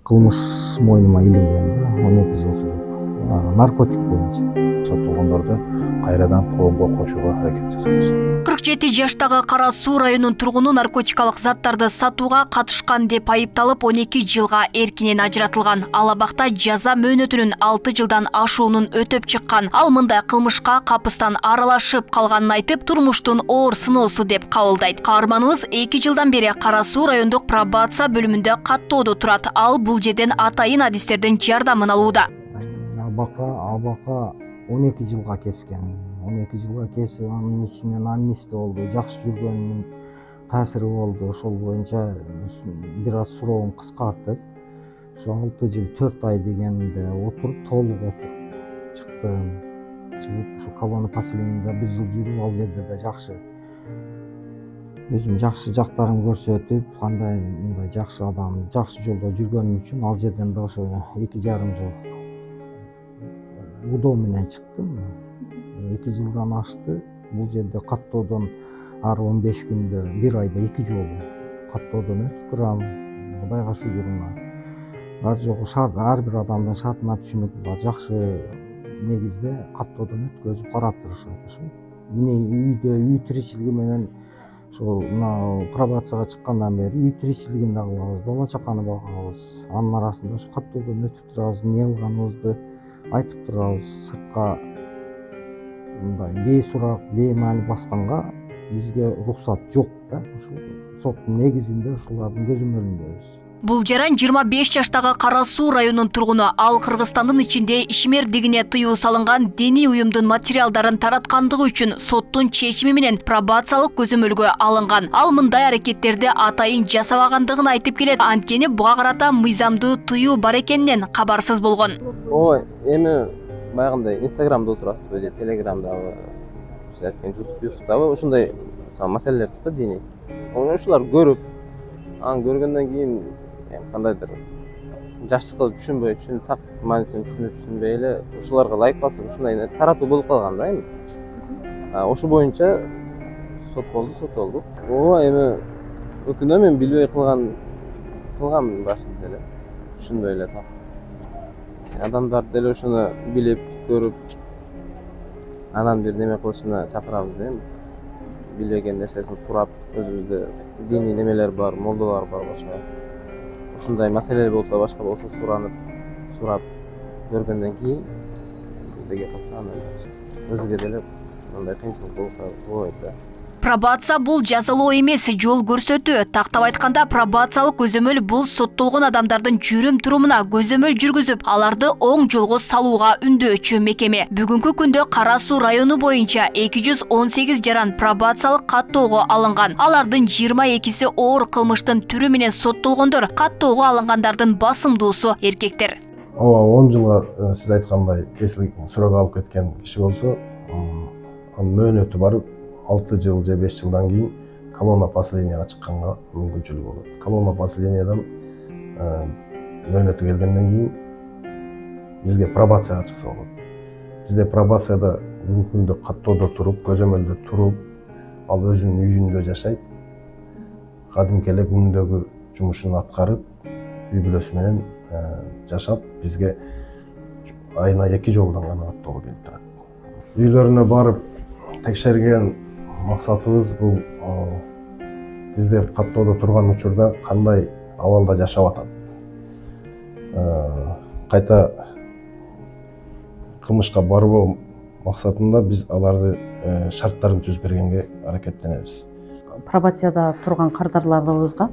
Кылмыш мойнума илинген да, 12 жыл сүрүп, наркотик боюнча. Соттолгондорду кайрадан коомго кошууга аракет жасайбыз. 47 жаштагы Кара Суу районунун тургуну наркотикалык заттарды сатууга катышкан деп айыпталып 12 жылга эркинен ажыратылган. Ал абакта жаза мөөнөтүнүн 6 жылдан ашуунун өтөп чыккан. Ал мындай кылмышка капыстан аралашып калганын айтып, турмуштун оор сыноосу деп кабылдайт. Каарманыбыз 2 жылдан бери Кара Суу райондук пробация бөлүмүндө каттоодо турат. Ал бул жерден атайын адистердин жардамын алууда. Абака 12 жылга kesкен. 12 жылга кесип, анын ичинен амнистия болду, жакшы жүргөнүнүн таасири болду. Ошол боюнча бир аз суроогун кыскартып, ошо 6 жыл 4 ай дегенде отуруп, толук отуруп чыктым. Чыгып, ошо колония поселенияда 1 жыл жүрүп, ал жерде да жакшы өзүм жакшы жактарымды көрсөтүп, кандай мындай жакшы адам, жакшы жолдо жүргөнүм үчүн ал жерден да ошо 2,5 жыл удоо менен чыктым. 2 жылдан ашты. Бул жерде каттоодон ар 15 күндө, 1 айда 2 жолу каттоодон өтүп турам. Кудайга шүгүр мына. Ар жогу шарт, ар бир адамдын шартына түшүнүп, жакшы негизде каттоодон өткөзүп карап турушат ошо. Үй тиричилиги менен ошол мына пробацияга чыккандан бери үй тиричилигин да кылабыз, бала чаканы багабыз. Анын арасында ошо каттоодон өтүп турабыз, эмне кылганыбызды айтып турабыз. Сыртка мындай бейсурак, беймаани басканга бизге уруксат жок да. Ошол соттун негизинде ушулардын көзөмөлүндөбүз. Бул жаран 25 жаштагы Кара Суу районунун тургуну. Ал Кыргызстандын ичинде ишмердигине тыюу салынган диний уюмдун материалдарын тараткандыгы үчүн соттун чечими менен пробациялык көзөмөлгө алынган. Ал мындай аракеттерди атайын жасабагандыгын айтып келет. Анткени буга карата мыйзамдуу тыюу бар экенинен кабарсыз болгон. Ой, эми баягындай Инстаграмда отурасызбы же Телеграмдабы, YouTube'дабы ушундай маселелер чыкса диний. Ошолар көрүп, аны көргөндөн кийин кандайдыр жакшы кылып түшүнбөй, так маанисин түшүнбөй эле ошолорго лайк басып, ушундай таратуу болуп калган да эми. Ошо боюнча сот болду. Эми өкүнөм, мен билбей кылгам башында эле, түшүнбөй эле так. Адамдар деле ошону билип, көрүп, анан бир неме кылышына чакырабыз да эми. Билбеген нерсесин сурап, өзүбүздө диний немелер бар, молдолор бар башка. Ушундай маселе болсо, башка болсо сурап көргөндөн кийин деге кылса анан өзүгө деле мындай кыйынчылык болбойт да. Пробация бул жазалоо эмес, жол көрсөтүү. Тактап айтканда, пробациялык көзөмөл бул соттолгон адамдардын жүрүм-турумуна көзөмөл жүргүзүп, аларды оң жолго салууга үндөочү мекеме. Бүгүнкү күндө Кара Суу району боюнча 218 жаран пробациялык каттоого алынган. Алардын 22си оор кылмыштын түрү менен соттолгондор, каттоого алынгандардын басымдуусу эркектер. 10 жылга сиз айткандай кесилип суроо алып кеткен киши болсо, анын мөөнөтү барып 6 жыл же 5 жылдан кийин колония поселенияга чыкканга мүмкүнчүлүгү болот. Колония поселениядан мөөнөтү келгенден кийин бизге пробацияга чыкса болот. Бизде пробацияда бүгүнкү күндө каттоодо туруп, көзөмөлдө туруп, ал өзүнүн үйүндө жашайт. Кадимки эле күнүндөгү жумушун аткарып, үй бүлөсү менен жашап, бизге айына 2 жолдон гана каттоого келип турат. Үйлөрүнө барып текшерген максатыбыз бул бизде каттоодо турган учурда кандай абалда жашап атат. Кайта кылмышка барбоо максатында биз аларды шарттарын түзүп бергенге аракеттенебиз. Пробацияда турган кардарларыбызга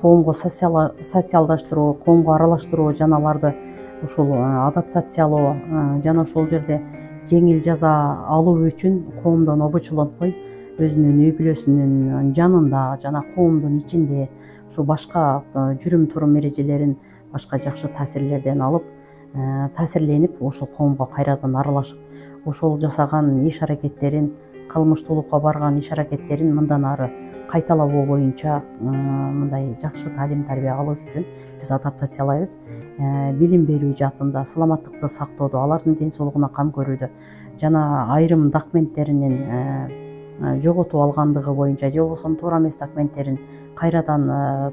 коомго социалдаштыруу, коомго аралаштыруу, жана аларды ушул адаптациялоо жана ошол жерде жеңил жаза алуу үчүн коомдон обочулонтпой, өзүнүн үй бүлөсүнүн жанында жана коомдун ичинде ушу башка жүрүм-турум эрежелерин, башка жакшы таасирлерден алып, таасирленип, ошол коомго кайрадан аралашып, ошол жасаган иш аракеттерин, кылмыштуулукка барган иш аракеттерин мындан ары кайталабоо боюнча мындай жакшы таалим тарбия алыш үчүн биз адаптациялайбыз. Билим берүү жаатында, саламаттыкты сактоодо, алардын ден соолугуна кам көрүүдө жана айрым документтеринин жоготуп алгандыгы боюнча же болбосо туура эмес документтерин кайрадан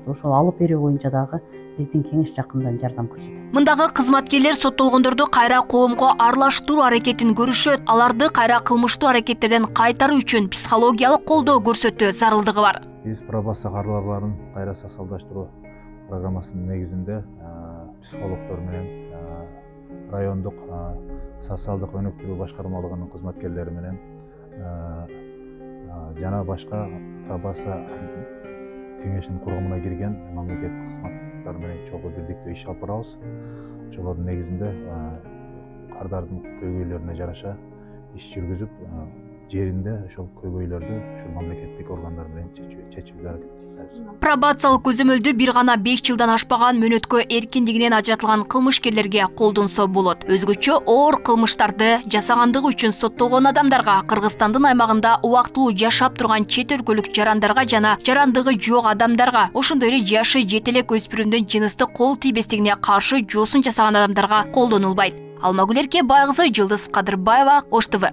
ошол алып берүү боюнча дагы биздин кеңеш жакындан жардам көрсөтөт. Мындагы кызматкерлер соттолгондорду кайра коомго аралаштыруу аракетин көрүшөт, аларды кайра кылмыштуу аракеттерден кайтаруу үчүн психологиялык колдоо көрсөтүү зарылдыгы бар. Биз пробация кардарларын кайра социалдаштыруу программасынын негизинде психологдор менен райондук социалдык өнүктүрүү башкармалыгынын кызматкерлери менен жана башка пробация кеңешинин кургумуна кирген мамлекеттик кызматтар менен чогуу бирдикте иш алып барабыз. Ошолордун негизинде кардардын көйгөйлөрүнө жараша иш жүргүзүп, жеринде ошол көйгөйлөрдү ушул мамлекеттик органдар менен чечүүгө аракет кылабыз. Пробациялык көзөмөлдү бир гана 5 жылдан ашпаган мөөнөткө эркиндигинен ажыратылган кылмышкерлерге колдонсо болот. Өзгөчө оор кылмыштарды жасагандыгы үчүн соттолгон адамдарга, Кыргызстандын аймагында убактылуу жашап турган чет өлкөлүк жарандарга жана жарандыгы жок адамдарга, ошондой эле жашы жете элек өспүрүмдүн жыныстык кол тийбестигине каршы жосун жасаган адамдарга колдонулбайт. Алмагүл Эркебайкызы, Жылдыз Кадырбаева, Ош ТВ.